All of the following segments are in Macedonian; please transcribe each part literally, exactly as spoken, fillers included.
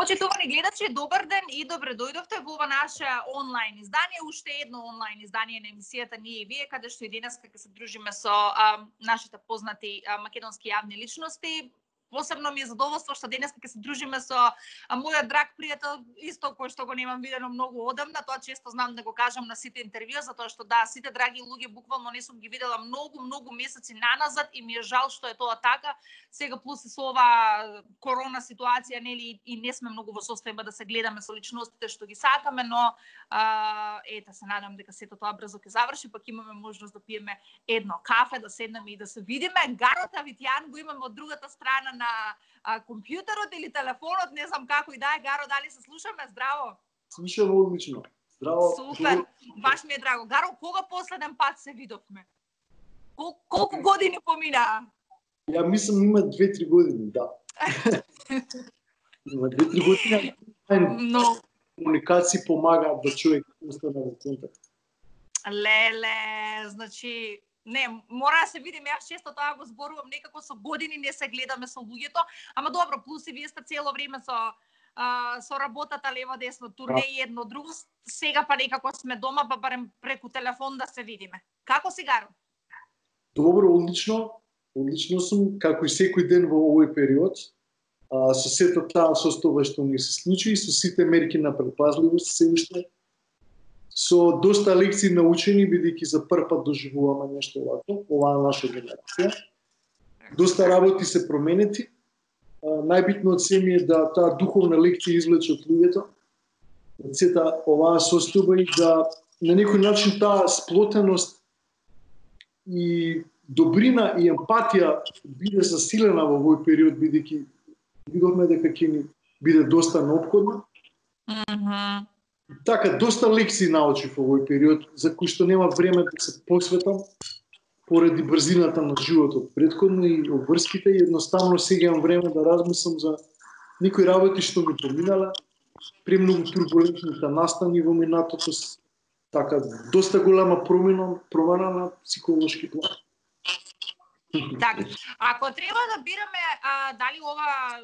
Почитувани гледачи, добар ден и добре дојдовте во ова наше онлайн издание, уште едно онлайн издание на емисијата Ние и вие, каде што и денес ќе се дружиме со а, нашите познати а, македонски јавни личности. Посебно ми е задоволство што денес ќе се дружиме со а, мојот драг пријател, исто кој што го немам видено многу одамна. Тоа често знам да го кажам на сите интервјуа, затоа што да, сите драги луѓе буквално не сум ги видела многу, многу месеци наназад и ми е жал што е тоа така. Сега плюс и со ова корона ситуација, нели, и не сме многу во состојба да се гледаме со личностите што ги сакаме, но а, ете, се надам дека сето тоа брзо ќе заврши, пак имаме можност да пиеме едно кафе, да седнеме и да се видиме. Гаро Тавитјан го имаме од другата страна на а, компјутерот или телефонот, не знам како и да е. Гаро, дали се слушаме? Здраво! Слушаме одлично. Здраво. Супер, баш ми е драго. Гаро, кога последен пат се видовме? Кол колку години помина? Ја мислам има две-три години, да. Има две-три години. Но Комуникација помагаат да човек остане во контакт. Леле, значи не, мора да се видиме, јас често тоа го зборувам, некако со години не се гледаме со луѓето, ама добро, плюс и вие сте цело време со а, со работата лево десно, турне и едно друго, сега па некако сме дома, па барем преку телефон да се видиме. Како си, Гаро? Добро, одлично. Одлично сум, како и секој ден во овој период. А, со сето таа состојба што ми се случи, со сите мерки на предпазливост се уште, со доста лекции научени, бидејќи за прв пат доживуваме нешто овакво, оваа наша генерација. Доста работи се променети. А, најбитно од се ми е да таа духовна лекција извлече од луѓето, од сета оваа состојба и да на некој начин таа сплотеност и добрина и емпатија биде засилена во овој период, бидејќи видовме дека ќе ни биде доста неопходно. Mm-hmm. Така, доста лекции научив во овој период, за кои што нема време да се посветам, поради брзината на животот претходно и обврските, и едноставно сега имам време да размислам за некои работи што ми поминале, премногу турбулентните настани во минатото, така, доста голема промена, промена на психолошки план. Така, ако треба да бираме а, дали ова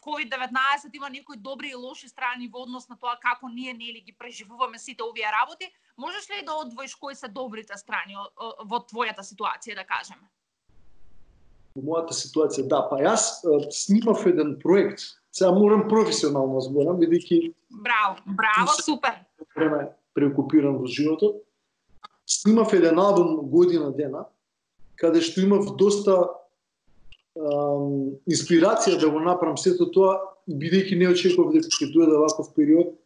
ковид деветнаесет има некои добри и лоши страни во однос на тоа како ние нели ги преживуваме сите овие работи, можеш ли да одвоиш кои се добрите страни во твојата ситуација, да кажеме? Во мојата ситуација, да, па јас а, снимав еден проект. Сега морам професионално зборам, бидејќи Браво, браво, супер. Време преокупиран во животот. Снимав еден албум година дена, каде што имав доста ам, инспирација да го направам сето тоа, бидејќи не очекував дека ќе дојде ваков период.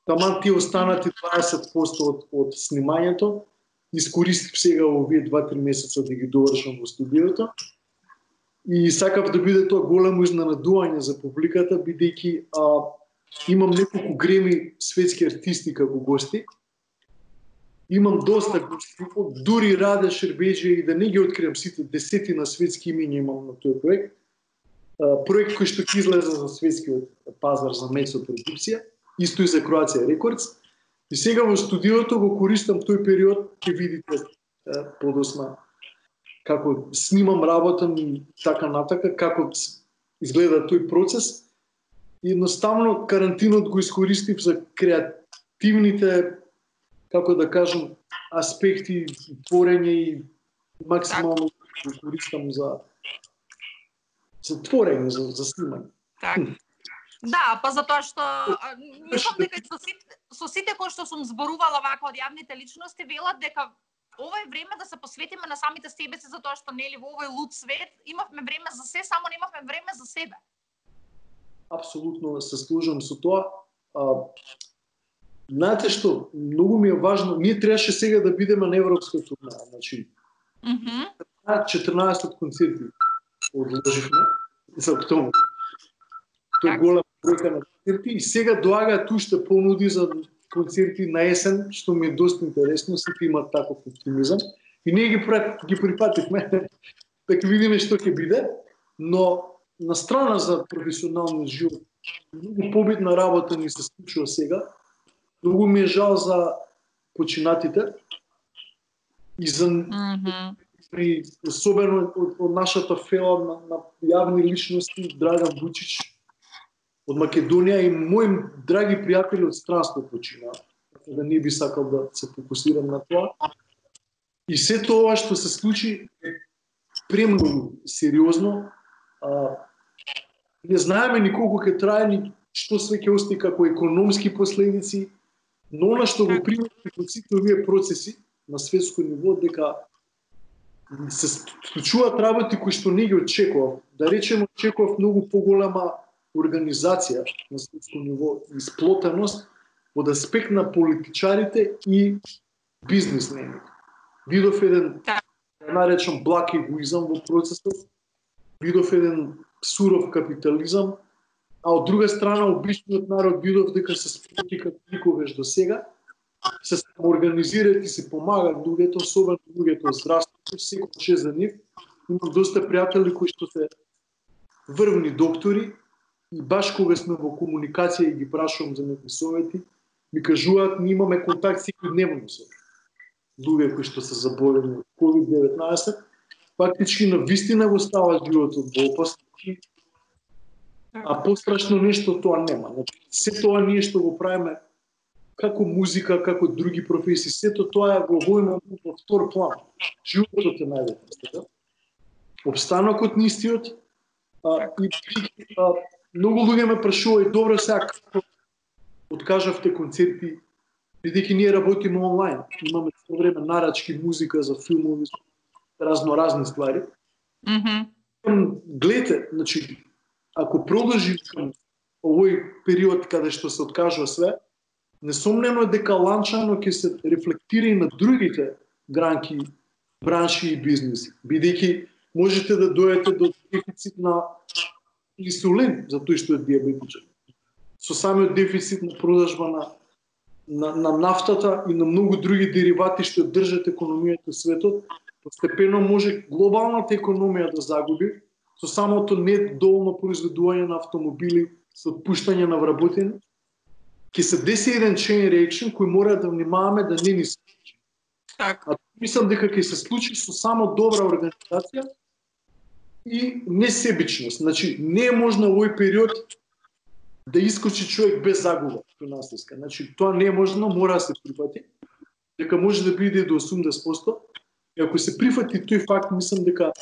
Таман ти останати дваесет проценти од, од снимањето, искористив сега овие два-три месеца да ги довршам во студиото. И сакав да биде тоа големо изненадување за публиката, бидејќи а, имам неколку греми светски артисти како гости. Имам доста гости, дури Раде Шербеџи, и да не ги откриам сите десетина светски имиња имам на тој проект. А, проект кој што ќе излезе за светскиот пазар за Мецо продукција, исто и за Кроација Рекордс. И сега во студиото го користам тој период, ќе видите е, подосна како снимам, работам и така натака, како изгледа тој процес. И едноставно карантинот го искористив за креативните, како да кажам, аспекти, творење и максимално го користам за за творење, за, за снимање. Так. Да, па затоа што мислам дека со сите, со сите кои што сум зборувала вака од јавните личности велат дека ова е време да се посветиме на самите себе си, затоа што нели во овој луд свет имавме време за се, само немавме време за себе. Апсолутно се служам со тоа. А, знаете што, многу ми е важно, ние требаше сега да бидеме на европска турнеја, значи. Мхм. четрнаесет концерти одложивме за октомври. Тоа е Так. голема бројка на концерти и сега доаѓаат уште понуди за концерти на есен, што ми е доста интересно, сите имаат таков оптимизам. И ние ги, ги припативме да ќе видиме што ќе биде, но на страна за професионалниот живот, многу побитна работа ни се случува сега. Многу ми е жал за починатите и за Мгм. и особено од, од нашата фела на, на јавни личности, Драган Вучич, од Македонија и мои драги пријатели од странство почина. Да не би сакал да се фокусирам на тоа. И се тоа што се случи премногу сериозно. А, не знаеме ни колку ќе трае, ни што све ќе остане како економски последици, но она што го примети од сите овие процеси на светско ниво, дека се случуваат работи кои што не ги очекував. Да речеме, очекував многу поголема организација на светско ниво, исплотеност од аспект на политичарите и бизнисмените. Видов еден, да наречам, благ егоизам во процесот, видов еден суров капитализам, а од друга страна обичниот народ видов дека се сплоти како никогаш до сега, се самоорганизираат и се помагаат луѓето, особено луѓето од здравството, секој за нив. Имам доста пријатели кои што се врвни доктори и баш кога сме во комуникација и ги прашувам за некои совети, ми кажуваат, ние имаме контакт секојдневно со луѓе кои што се заболени од ковид деветнаесет, фактички на вистина го става животот во опасност, а пострашно нешто тоа нема. Значи, се тоа ние што го правиме како музика, како други професии, сето тоа е во војна во втор план. Животот е најважно. Обстанокот на истиот, а, и а, многу луѓе ме прашуваат, добро сега како откажавте концерти, бидејќи ние работиме онлайн, имаме со време нарачки, музика за филмови, разноразни ствари. Mm-hmm. Гледате, значи, ако продолжи овој период каде што се откажува све, несомнено е дека ланчано ќе се рефлектира и на другите гранки, бранши и бизнеси, бидејќи можете да дојдете до дефицит на инсулин за тој што е диабетичен. Со самиот дефицит на продажба на, на, на нафтата и на многу други деривати што држат економијата во светот, постепено може глобалната економија да загуби со самото недоволно произведување на автомобили, со отпуштање на вработени. Ќе се деси еден chain reaction кој мора да внимаваме да не ни се случи. Так. А мислам дека ќе се случи со само добра организација и несебичност. Значи, не е можно овој период да искочи човек без загуба финансиска. Значи, тоа не е можно, мора да се прифати. Дека може да биде до осумдесет проценти. И ако се прифати тој факт, мислам дека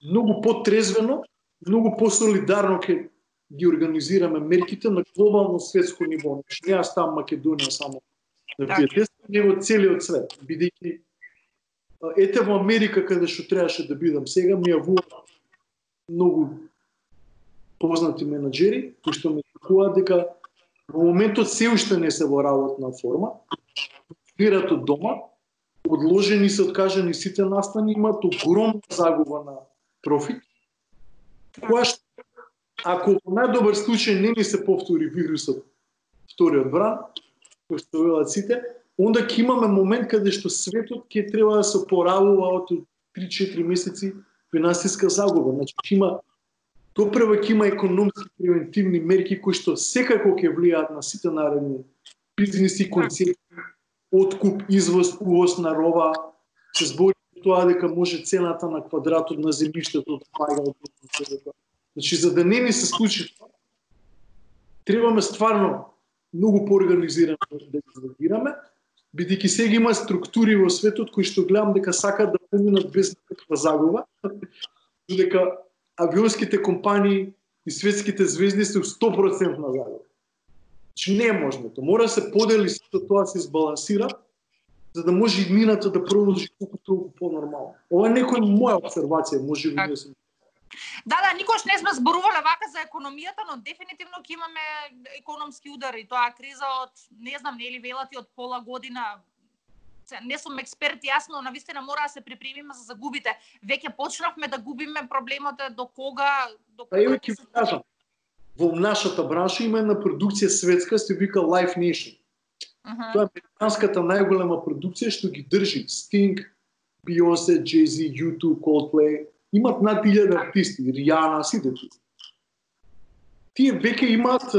многу потрезвено, многу посолидарно ќе ги организираме мерките на глобално светско ниво. Значи, не ја ставам Македонија само на тие тести, него целиот свет. Бидејќи ете во Америка, каде што требаше да бидам сега, ми јавува многу познати менаџери, кои што ми кажуваат дека во моментот се уште не се во работна форма, функционираат од дома, одложени се, откажани сите настани, имаат огромна загуба на профит, која што, ако во најдобар случај не ни се повтори вирусот, вториот бран, кој што велат сите, онда ќе имаме момент каде што светот ќе треба да се опоравува од три-четири месеци финансиска загуба. Значи, има допрева ќе има економски превентивни мерки кои што секако ќе влијаат на сите наредни бизниси, концепти, откуп, извоз, увоз на роба, се збори тоа дека може цената на квадратот на земјиштето да паѓа од. Значи, за да не ни се случи тоа, требаме стварно многу поорганизирано да ги реагираме, бидејќи сега има структури во светот кои што гледам дека сакаат да поминат без никаква загуба, дека авионските компании и светските звезди се сто проценти на загуба. Значи не е можно тоа. Мора да се подели сето тоа, се избалансира, за да може иднината да продолжи колку толку понормално. Ова е некоја моја обсервација, може би не сум. Да, да, никош не сме зборувале вака за економијата, но дефинитивно ќе имаме економски удари. Тоа криза од, не знам, нели велати од пола година. Не сум експерт, јасно, навистина мора да се припремиме за загубите. Веќе почнавме да губиме, проблемот е до кога... До кога Па ќе ви кажам, во нашата бранша има една продукција светска, се вика Live Nation. Uh-huh. Тоа е американската најголема продукција што ги држи Sting, Beyoncé, Jay-Z, ю ту, Coldplay. Имат над илјада артисти, Ријана, сите тие. Тие веќе имаат,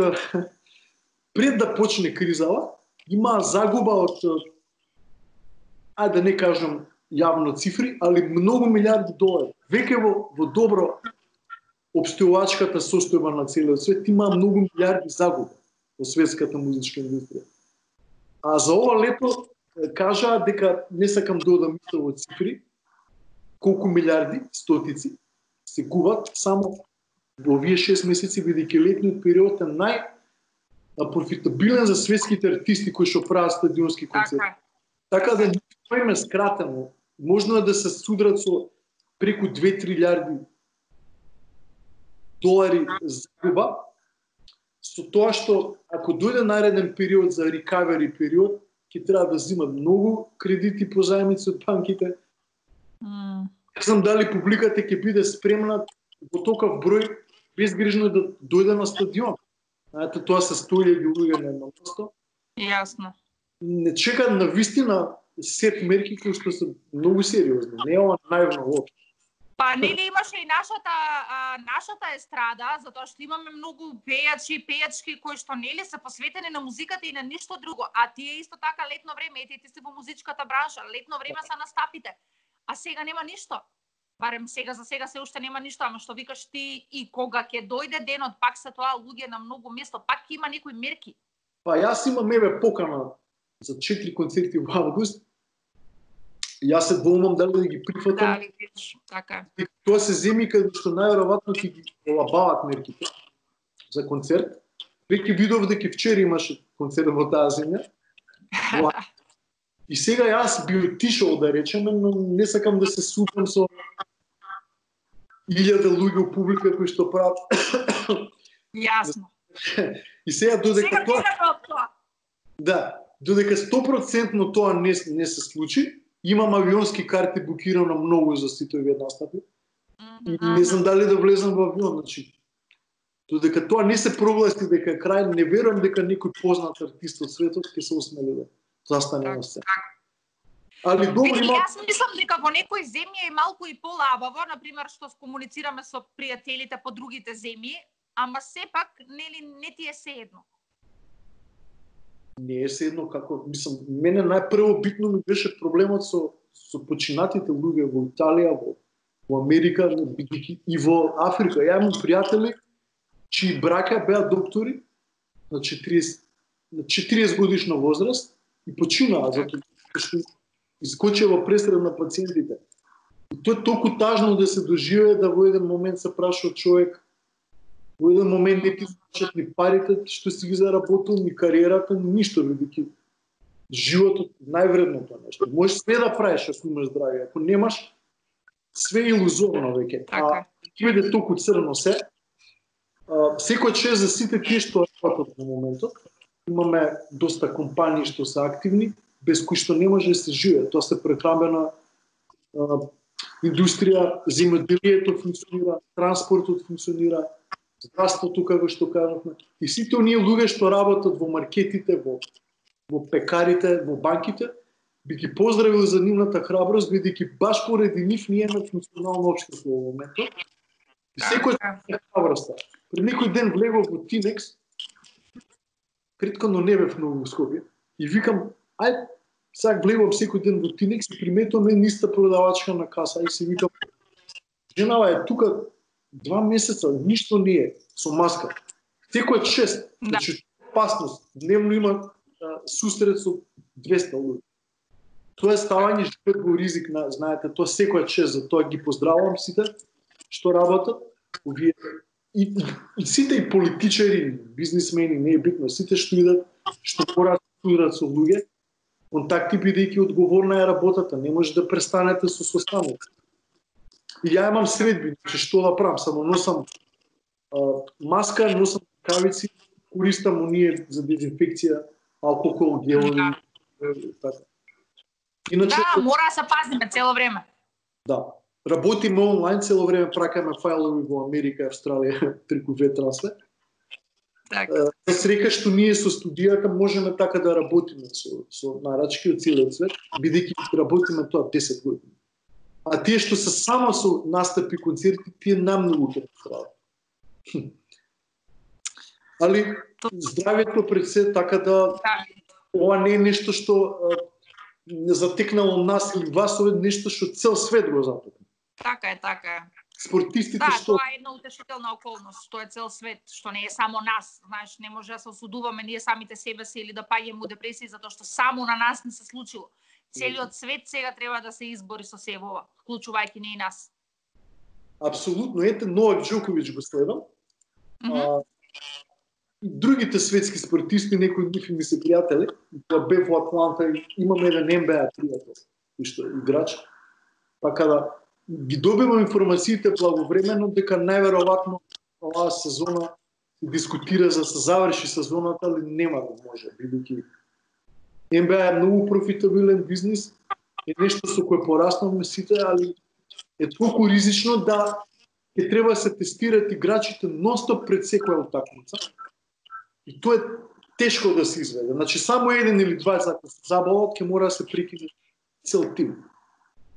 пред да почне кризава, има загуба од, ајде да не кажам јавно цифри, али многу милиарди долари. Веќе во, во добро обстојувачката состојба на целиот свет, има многу милиарди загуба во светската музичка индустрија. А за ова лето кажаа дека не сакам да одам исто во цифри, колку милиарди, стотици се губат само во овие шест месеци, бидејќи летниот период е нај профитабилен за светските артисти кои што прават стадионски концерти. Така, така да тоа е скратено. Можно е да се судрат со преку две-три илјади долари загуба, со тоа што ако дојде нареден период за recovery период, ќе треба да земат многу кредити по заемници од банките. Mm. Не знам дали публиката ќе биде спремна во токав број безгрижно да дојде на стадион. Знаете, тоа се сто илјади луѓе на едно место. Јасно. Не чекат на вистина сет мерки кои што се многу сериозни. Не е ова наивно воопшто. Па нели имаше и нашата а, нашата естрада, затоа што имаме многу пејачи, пејачки кои што нели се посветени на музиката и на ништо друго. А тие исто така летно време, ете ти си во музичката бранша, летно време се настапите. А сега нема ништо. Барем сега за сега се уште нема ништо, ама што викаш ти и кога ќе дојде денот, пак се тоа луѓе на многу место, пак ќе има некои мерки. Па јас имам еве покана за четири концерти во август. Јас се двоумам дали да ги прифатам. Да, видиш, така. Тоа се земи каде што најверојатно ќе ги олабават мерките за концерт. Веќе видов дека вчера имаше концерт во таа земја. И сега јас би отишол да речеме, но не сакам да се супам со илјада луѓе у публика кои што прават. Јасно. И сега додека сега тоа Да, додека сто проценти тоа не не се случи, имам авионски карти букирано многу за сите овие настапи. И не знам дали да влезам во авион, значи. Додека тоа не се прогласи дека е крај, не верувам дека некој познат артист од светот ќе се осмели да застане на сцена. Али добро има. Јас мислам дека во некои земји е малку и полабаво, на пример што комуницираме со пријателите по другите земји, ама сепак нели не ти е сеедно. Не е седно како, мислам, мене најпрво битно ми беше проблемот со со починатите луѓе во Италија, во, во Америка, и во Африка. Ја имам пријатели чии браќа беа доктори на четириесет на четириесет годишна возраст и починаа затоа што искочија во пресред на пациентите. И тоа е толку тажно да се доживее да во еден момент се праша човек, во еден момент не ти слушат ни парите што си ги заработил, ни кариерата, ни ништо, бидејќи животот највредното нешто. Можеш све да правиш ако имаш здравје, ако немаш, све е илузорно веќе. А ќе биде толку црно се. Секој чест за сите тие што работат во моментот. Имаме доста компании што се активни, без кои што не може да се живее. Тоа се прехранбена индустрија, земјоделието функционира, транспортот функционира, здравството, како што кажавме. И сите оние луѓе што работат во маркетите, во, во пекарите, во банките, би ги поздравил за нивната храброст, бидејќи баш поради нив ние имаме функционално општество во моментот. И секој е храброста. Пред некој ден влегов во Тинекс, претходно не бев многу во Скопје, и викам, ај, сега влегувам секој ден во Тинекс и приметувам една иста продавачка на каса и си викам, женава е тука два месеца, ништо не е со маска. Секој шест, да. Значи опасност. Дневно има а, сусрет со двеста луѓе. Тоа е ставање живот во ризик, на, знаете, тоа секој шест, за тоа ги поздравувам сите што работат, овие и, и, и сите и политичари, бизнисмени, не е битно, сите што идат, што мораат да судрат со луѓе, контакти бидејќи одговорна е работата, не може да престанете со состаноци. И ја имам средби, че што да правам, само носам а, маска, носам рукавици, користам оние за дезинфекција, алкохол, гелови, така. Иначе, да, мора да се пазиме цело време. Да. Работиме онлайн цело време, пракаме фајлови во Америка и Австралија преку ветрансфер. Така. За среќа што ние со студијата можеме така да работиме со, со нарачки од целиот свет, бидејќи работиме тоа десет години. А тие што се само со настапи, концерти, тие најмногу ќе страдат. Али здравјето пред се, така да ова не е нешто што не затекнало нас или вас, ова е нешто што цел свет го затекна. Така е, така е. спортистите Да, што... тоа е една утешителна околност, тоа е цел свет, што не е само нас, знаеш, не може да се осудуваме ние самите себе си или да паѓаме у депресија затоа што само на нас не се случило. Целиот свет сега треба да се избори со себе ова, вклучувајќи ние и нас. Апсолутно, ете Новак Џоковиќ го следам. Mm -hmm. а, другите светски спортисти, некои од нив ми се пријатели, тоа бев во Атланта и имаме еден Н Б А пријател, што играч. Така да ги добивам информациите благовремено дека најверојатно оваа сезона се дискутира за да се заврши сезоната, али нема да може, бидејќи Н Б А е многу профитабилен бизнис, е нешто со кое пораснавме сите, али е толку ризично да ќе треба да се тестираат играчите нонстоп пред секоја утакмица. И тоа е тешко да се изведе. Значи само еден или два за да се забават, ќе мора да се прекине цел тим.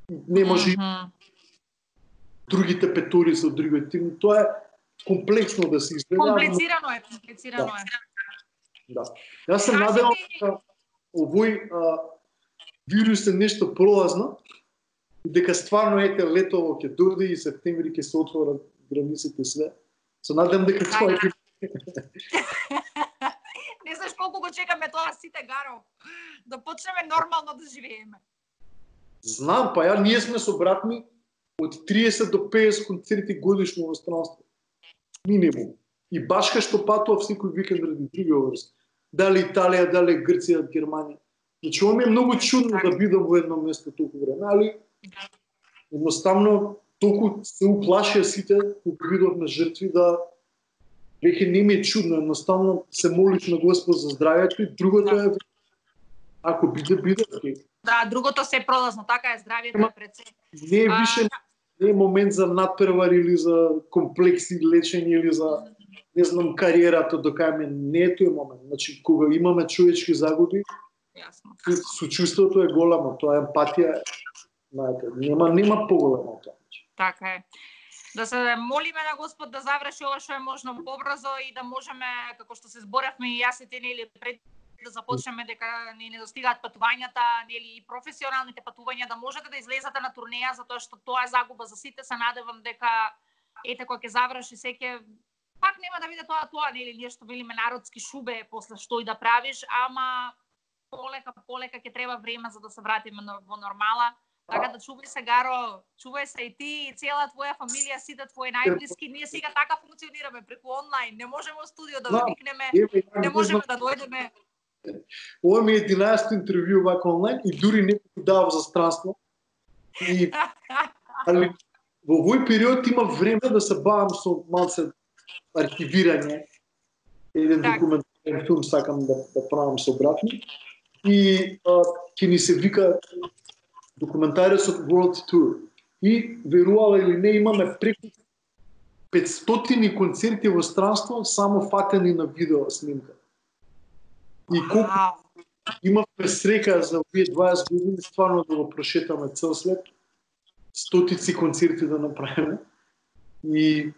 Не може mm -hmm. другите петори со другиот тим. Тоа е комплексно да се изведе. Комплицирано е, комплицирано да. е. Да. Јас се надевам дека овој а, вирус е нешто пролазно, дека стварно ете летово ќе дојде и септември ќе се отворат границите све. Се надевам дека тоа е. Не знаеш колку го чекаме тоа сите, Гаро, да почнеме нормално да живееме. Знам, па ја ние сме со брат ми од триесет до петдесет концерти годишно во странство. Минимум. И башка што патува секој викенд ради други образ. Дали Италија, дали Грција, Германија. Значи, ова ми е многу чудно да бидам во едно место толку време, али едноставно толку се уплашија сите кога видовме жртви да веќе не ми е чудно, едноставно се молиш на Господ за здравјето и другото е ако биде, биде. Да, другото се е пролазно, така е, здравјето е пред се. Не е више, не е момент за надпревар или за комплекси лечење или за не знам кариерата до кај ме, не е тој момент. Значи кога имаме човечки загуби, јасно. Сочувството е голямо, тоа е емпатија, знаете, нема нема поголемо тоа. Така е. Да се молиме на Господ да заврши ова што е можно побрзо и да можеме, како што се зборевме и јас и ти, нели, пред да започнеме дека не недостигаат патувањата, нели, и професионалните патувања, да можете да излезете на турнеја, затоа што тоа е загуба за сите. Се надевам дека ете кога ќе заврши секе пак нема да биде тоа тоа, нели, ние што велиме народски шубе после што и да правиш, ама полека полека ќе треба време за да се вратиме во нормала. Така да чувај се, Гаро, чувај се и ти, и цела твоја фамилија, сите твои најблиски. Ние сега така функционираме преку онлайн. Не можеме во студио да ве викнеме, не можеме да дојдеме. Ова ми е единаесетто интервју вака онлайн и дури некој дава за странство. И али во овој период има време да се бавам со малце архивирање. Еден так. Документарен филм сакам да, да правам со брат ми. И ќе ни се вика документарисот World Tour. И верувала или не, имаме преку петстотини концерти во странство само фатени на видео снимка. И колку wow. имавме среќа за овие дваесет години стварно да го прошетаме цел свет, стотици концерти да направиме. И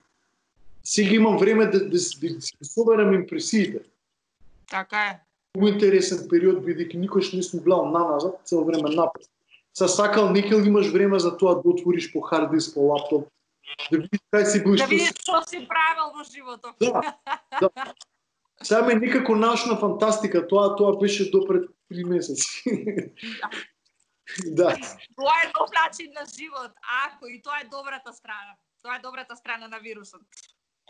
сега имам време да, да, да си соберам импресиите. Така е. Многу интересен период, бидејќи никош не сум гледал наназад, цел време напред. Са сакал некој имаш време за тоа да отвориш по хард диск, по лаптоп, да видиш кај си бил, да видиш што си правил во животот. Да, да. Сега ме некако научна фантастика, тоа тоа беше допред три месеци. Да. Тоа е нов начин на живот, ако и тоа е добрата страна. Тоа е добрата страна на вирусот.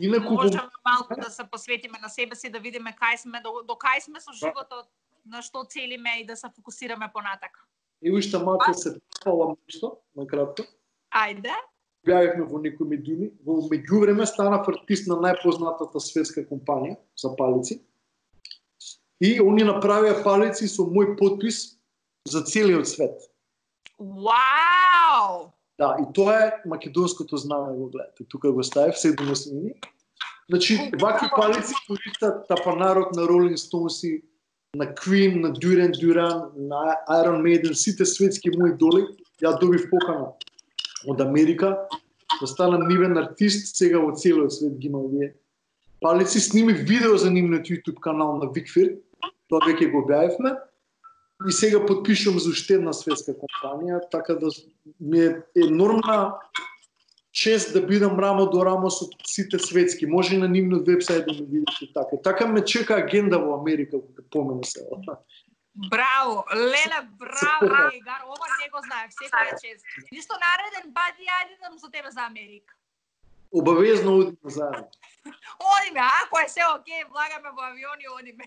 Инаку можеме малку да се посветиме на себе си, да видиме кај сме, до, до кај сме со животот, на што целиме и да се фокусираме понатака. И уште малку се фалам нешто, на кратко. Ајде. Беавме во некои медиуми. Во меѓувреме станав артист на најпознатата светска компанија за палици. И они направија палици со мој подпис за целиот свет. Вау! Да, и тоа е македонското знаме, го гледате. Тука го ставив, седумесмини. Значи, вакви палици користат тапанарот на Rolling Stones, на Queen, на Duran Duran, на Iron Maiden, сите светски мои идоли. Ја добив покана од Америка да станам нивен артист, сега во целиот свет ги има овие палици. Снимив видео за нивниот YouTube канал на Викфир, тоа веќе го објавивме. И сега подпишувам за уште една светска компанија, така да ми е енормна чест да бидам рамо до рамо со сите светски. Може и на нивниот вебсајт да ме видите така. Така ме чека агенда во Америка, кога помена се. Браво, Леле, браво, Егар, ова не го знаев, секој е чест. Ништо нареден пат ја идам со тебе за Америка. Обавезно одиме заедно. Одиме, ако е се окей, влагаме во авиони, одиме.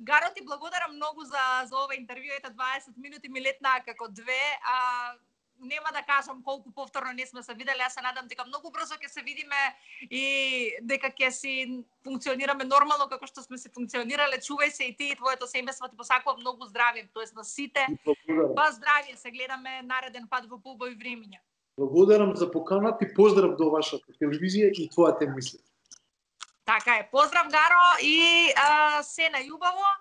Гаро, ти благодарам многу за, за ова интервју, ете дваесет минути ми летнаа како две, а нема да кажам колку повторно не сме се виделе, јас се надам дека многу брзо ќе се видиме и дека ќе си функционираме нормално како што сме се функционирале. Чувај се и ти и твоето семејство, ти посакувам многу здравје, тоест на сите. Па здравје, се гледаме нареден пат во поубави времиња. Благодарам за поканата и поздрав до вашата телевизија и твојата емисија. Така е, поздрав Гаро и а, се најубаво.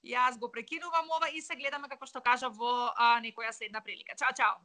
Јас го прекинувам ова и се гледаме како што кажа во а, некоја следна прилика. Чао, чао.